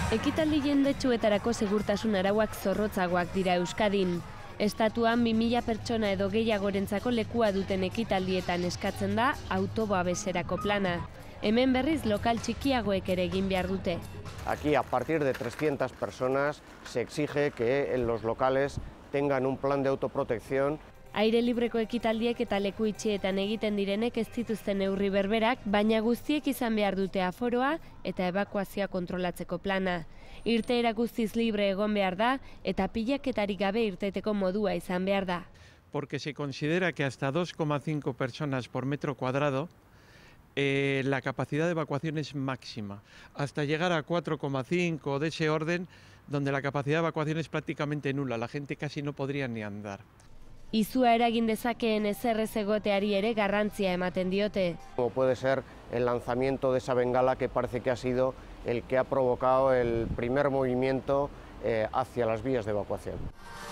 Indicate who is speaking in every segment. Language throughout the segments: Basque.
Speaker 1: Ekitaldi jendetsuetarako segurtasun arauak zorrotzagoak dira Euskadin. Estatuan 2000 pertsona edo gehiagorentzako lekua duten ekitaldietan eskatzen da autobabeserako plana. Hemen berriz lokal txikiagoek ere egin behar dute.
Speaker 2: Aquí, a partir de 300 personas, se exige que en los locales tengan un plan de autoprotección.
Speaker 1: Aire libreko ekitaldiek eta leku itxietan egiten direnek ez dituzten neurri berberak, baina guztiek izan behar dute aforoa eta ebakuazioa kontrolatzeko plana. Irteera guztiz libre egon behar da eta pilaketarik gabe irteteko modua izan behar da.
Speaker 3: Porque se considera que hasta 2,5 personas por metro cuadrado la capacidad de evacuación es máxima, hasta llegar a 4,5 de ese orden, donde la capacidad de evacuación es prácticamente nula, la gente casi no podría ni andar.
Speaker 1: Izua eragin dezakeen ezerrez egoteari ere garrantzia ematen diote.
Speaker 2: Como puede ser el lanzamiento de esa bengala que parece que ha sido el que ha provocado el primer movimiento hacia las vías de evacuación.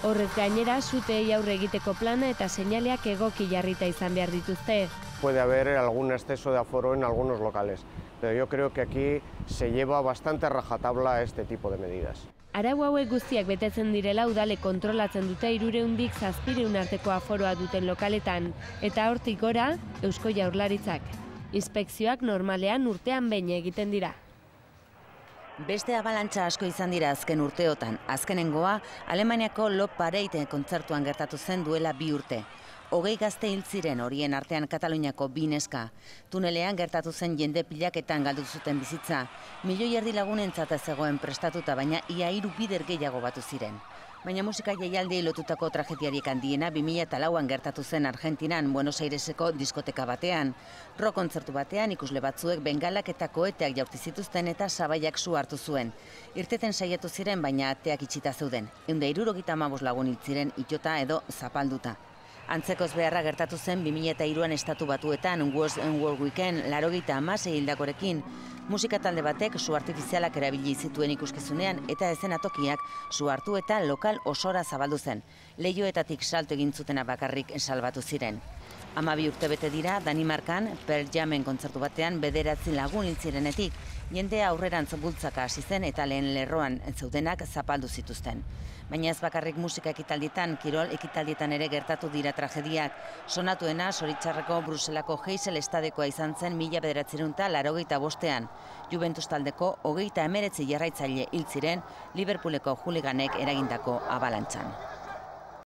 Speaker 1: Horrez gainera, suteei aurre egiteko plana eta seinaleak egoki jarrita izan behar dituzte.
Speaker 2: Puede haber algún exceso de aforo en algunos locales, pero yo creo que aquí se lleva bastante rajatabla este tipo de medidas.
Speaker 1: Arau hauek guztiak betetzen direla udalek kontrolatzen dute 300 700 arteko aforoa duten lokaletan, eta hortik gora Eusko Jaurlaritzak. Inspekzioak normalean urtean behin egiten dira.
Speaker 4: Beste abalantza asko izan dira azken urteotan. Azkenengoa, Alemaniako Lop Parade kontzertuan gertatu zen duela 2 urte. 20 gazte hil ziren, horien artean Kataluniako 2 neska. Tunelean gertatu zen jende pilaketan galdu zuten bizitza. 1,5 milioi lagunentzat zegoen prestatuta, baina ia 3 bider gehiago batu ziren. Baina musika jaialdiei lotutako tragediarik handiena 2004an gertatu zen Argentinan, Buenos Aireseko diskoteka batean. Rock kontzertu batean ikusle batzuek bengalak eta koeteak jaurti zituzten eta sabaiak su hartu zuen. Irteten saiatu ziren, baina ateak itxita zeuden. 175 lagun hil ziren itota edo zapalduta. Antzekoz beharra gertatu zen 2003an Estatu Batuetan World Weekend 96 hildakorekin. Musika talde batek su artifizialak erabili zituen ikuskizunean eta eszenatokiak su hartu eta lokal osora zabaldu zen. Leihoetatik salto egin zutena bakarrik salbatu ziren. 12 urte bete dira Danimarkan Pearl Jamen kontzertu batean 9 lagun hil zirenetik. Jendea aurrerantz bultzaka hasi zen eta lehen lerroan zeudenak zapaldu zituzten. Baina ez bakarrik musika ekitaldietan, kirol ekitaldietan ere gertatu dira tragediak. Sonatuena Zoritxarreko Bruselako Heysel estadekoa izan zen 1985ean. Juventus taldeko 39 jarraitzaile hil ziren Liverpooleko hooliganek eragindako abalantzan.